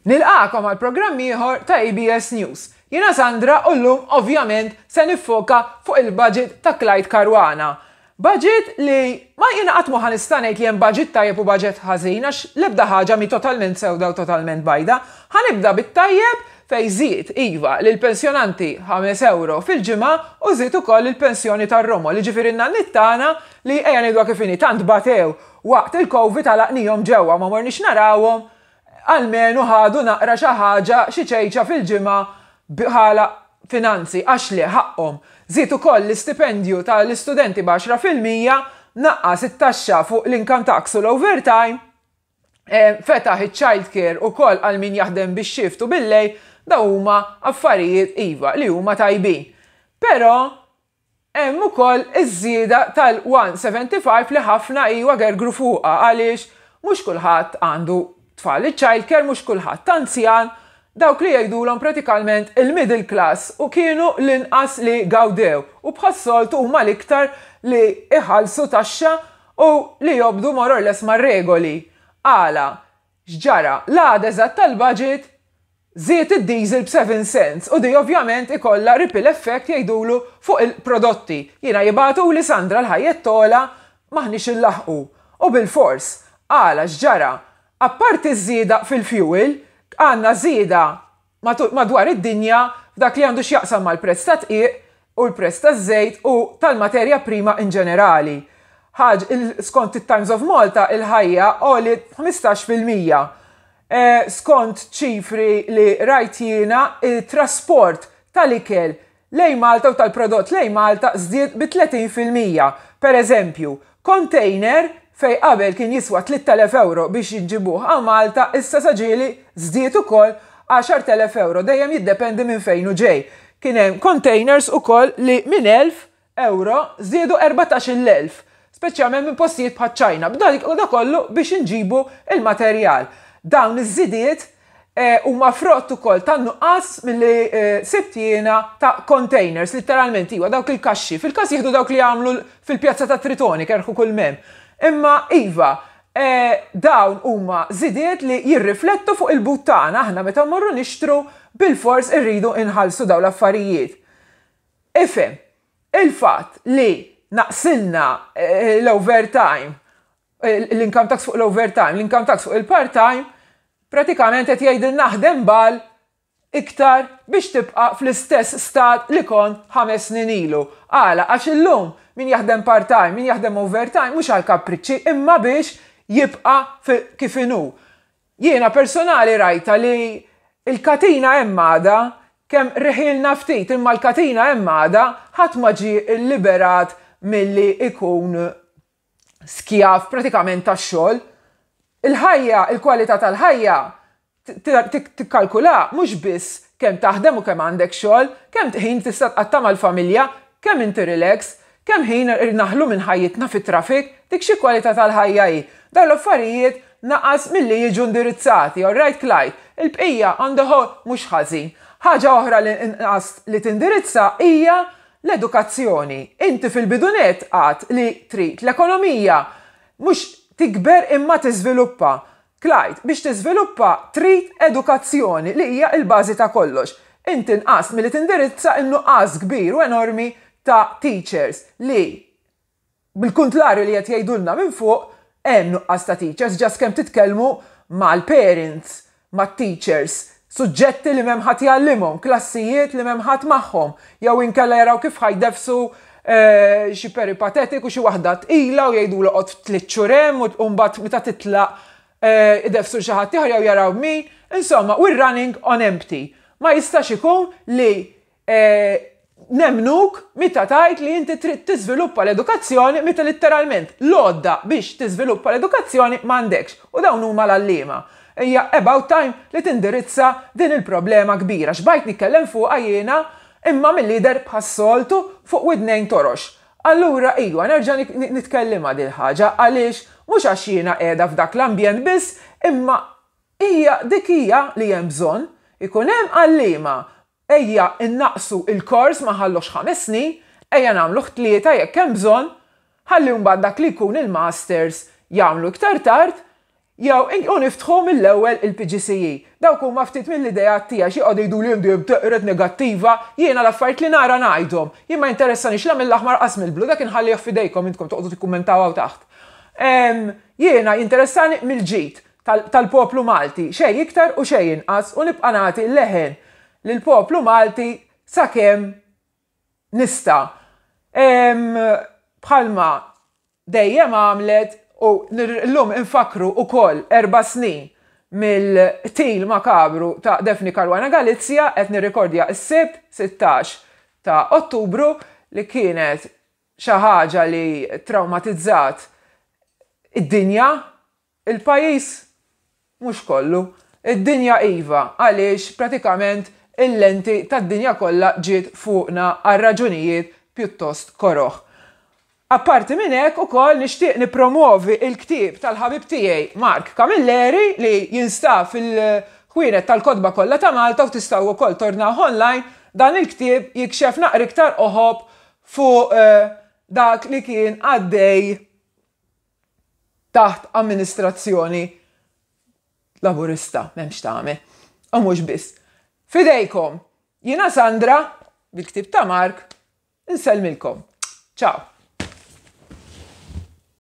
Nilqagħkom għal programm ieħor ta' ABS News. Jiena Sandra u llum ovvjament se niffoka fuq il-budget ta' Clyde Caruana. Budget li ma jiena qatt mhu ħa nista' ngħid li hemm budget tajjeb u budget ħażin għax l-ebda ħaġa mhi totalment sewda u totalment bajda. Ħa nibda bit-tajjeb fejn żied, iva, lill-pensjonanti ħames ewro fil-ġimgħa u żied ukoll il-pensjoni tar-romol, jiġifieri n-nanniet tagħna li ejja ngħiduha kif inhi tant batew waqt il-Covid għalaqnihom ġewwa ma morniex narawhom Almenu ħadu naqra xi ħaġa, xi ċejċa fil-ġimgħa bħala finanzi, għax le, ħaqqhom. Żied ukoll l-istipendju ta' l-istudenti b'10%, naqqas it-taxxa fuq l-income tax u l-overtime, fetaħ iċ-child care ukoll għal min jaħdem bix-shift u bil-lejl, dawn huma affarijiet iva li huma tajbin. Però Hemm ukoll iż-żieda tal-175 li ħafna iwa gergru fuqha għaliex mhux kulħadd għandu tfal iċ-child care, mhux kulħadd anzjan, dawk li jgħidulhom pratikalment il-middle class u kienu l-inqas li gawdew u bħas-soltu huma l-iktar li jħallsu taxxa u li jobdu more or less mar-regoli. Għala? X'ġara? L-għada eżatt tal-budget Żied id-diesel b'seven cents u di ovvjament ikollha ripple effect jgħidulu fuq il-prodotti. Jiena jibagħtuli Sandra l-ħajjet togħla m'aħniex inlaħħqu. U bilfors. Għala x'ġara? Apparti ż-żieda fil-fuel, għandna żieda madwar id-dinja f'dak li għandu x'jaqsam mal-prezz tad-dqiq u l-prezz taż-żejt u tal-materja prima in ġenerali. Ħaġ, skont it-Times of Malta il-ħajja għoliet b'15%. Skont ċifri li rajt jiena, it-trasport tal-ikel lejn Malta u tal-prodott lejn Malta żdied bi 30%. Per eżempju, container fejn qabel kien jiswa 3,000 ewro biex iġibuh hawn Malta issa sa ġieli żdied ukoll 10,000 ewro, dejjem jiddependi minn fejn hu ġej. Kien hemm containers ukoll li minn 1,000 Ewro żdiedu 14,000, speċjalment minn postijiet bħaċ-Ċajna, b'dan kollu biex inġibu l-materjal. Dawn iż-żidiet huma frott ukoll tan-nuqqas milli sibt jiena ta' containers, litteralment iva, dawk il-kaxxi. Fil-każ jieħdu dawk li jagħmlu fil-pjazza ta' Tritoni, kerħu kull m'hemm. Imma iva, dawn huma żidiet li jirriflettu fuq il-but tagħna, aħna meta mmorru nixtru bilfors irridu nħallsu dawn l-affarijiet. Ifhem, il-fatt li naqsilna l-overtime, l-income tax fuq l-overtime, l-income tax fuq il-part-time, pratikament qed jgħidilna aħdem bal iktar biex tibqa' fl-istess stat li kont 5 snin ilu. Għala? Għax illum min jaħdem part-time, min jaħdem overtime mhux għal kapriċċi imma biex jibqa' kif inhu. Jiena personali rajtha li l-katina hemm għadha, kemm reħielna ftit imma l-katina hemm għadha, ħadd ma ġie lliberat milli jkun skjav pratikament tax-xogħol. Il-ħajja, il-kwalità tal-ħajja tikkalkula mhux biss kemm taħdem u kemm għandek xogħol, kemm ħin tista' tqatta' mal-familja, kemm inti relax, Kemm ħin naħlu minn ħajjitna fit-traffic, dik xi kwalità tal-ħajja hi? Dawn l-affarijiet naqas milli jiġu indirizzati, all right Clyde? Il-bqija on the whole mhux ħażin. Ħaġa oħra li nqast li tindirizza hija l-edukazzjoni. Inti fil-bidu nett għedt li trid l-ekonomija mhux tikber imma tiżviluppa. Clyde, biex tiżviluppa trid edukazzjoni li hija l-bażi ta' kollox. Inti nqast milli tindirizza n-nuqqas kbir u enormi ta' teachers li bil-kuntlarju li qed jgħidulna minn fuq hemm nuqqas ta' teachers just kemm titkellmu mal-parents, mat-teachers, suġġetti li m'hemm ħadd jgħallimhom, klassijiet li m'hemm ħadd magħhom, jew inkella jaraw kif ħa jdeffsu xi peripatetic u xi waħda tqila u jgħidulu oqgħod tliet xhur hemm u mbagħad meta titlaq ideffsu xi ħadd ieħor jew jaraw min. Insomma, we're running on empty. Ma jistax ikun li Nemmnuk meta tgħid li inti trid tiżviluppa l-edukazzjoni meta litteralment l-għodda biex tiżviluppa l-edukazzjoni m'għandekx, u dawn huma l-għalliema. Hija about time li tindirizza din il-problema kbira. Xbajt nitkellem fuqha jiena imma milli jidher bħas-soltu fuq widnejn torox. Allura iwa nerġa' nitkellimha dil-ħaġa għaliex mhux għax jiena qiegħda f'dak l-ambjent biss imma hija dik hija li hemm bżonn ikun hemm għalliema Ejja nnaqqsu l-kors ma nħalluhx 5 snin, ejja nagħmluh 3 jekk hemm bżonn, ħalli mbagħad dak li jkun il-masters jagħmlu iktar tard. Jew u niftħu mill-ewwel il-PGCE. Dawk huma ftit mill-ideat tiegħi x'joqogħdu jgħiduli int dejjem teqred negattiva, jiena l-affarijiet li nara ngħidhom. Jien ma jinteressanix la mill-aħmar qas mill-blu, dak inħallih f'idejkom intkom toqgħodu tikkummentaw hawn taħt. Jiena jinteressani mill-ġid tal-poplu Malti, xejn iktar u xejn inqas u nibqa' nagħti leħen lill-poplu Malti sakemm nista'. Bħalma dejjem għamlet u llum infakkru wkoll erba' snin mill-qtil makabru ta' Daphne Caruana Galizia, qed nirrikordja s-Sibt 16 ta' Ottubru li kienet xi ħaġa li trawmatizzat id-dinja. Il-pajjiż mhux kollu. Id-dinja iva, għaliex pratikament il-lenti tad-dinja kollha ġiet fuqna għal raġunijiet pjuttost koroh. Apparti minn hekk ukoll nixtieq nippromwovi l-ktieb tal-ħabib tiegħi Mark Camilleri li jinstab fil-ħwienet tal-kotba kollha ta' Malta u tistgħu wkoll tordnawh online. Dan il-ktieb jikxef naqra iktar qoħob fuq dak li kien għaddej taħt amministrazzjoni Laburista, m'hemmx tagħmel. U mhux biss. F'idejkom, jiena Sandra, bil-ktieb ta' Mark, insellmilkom. Ciao.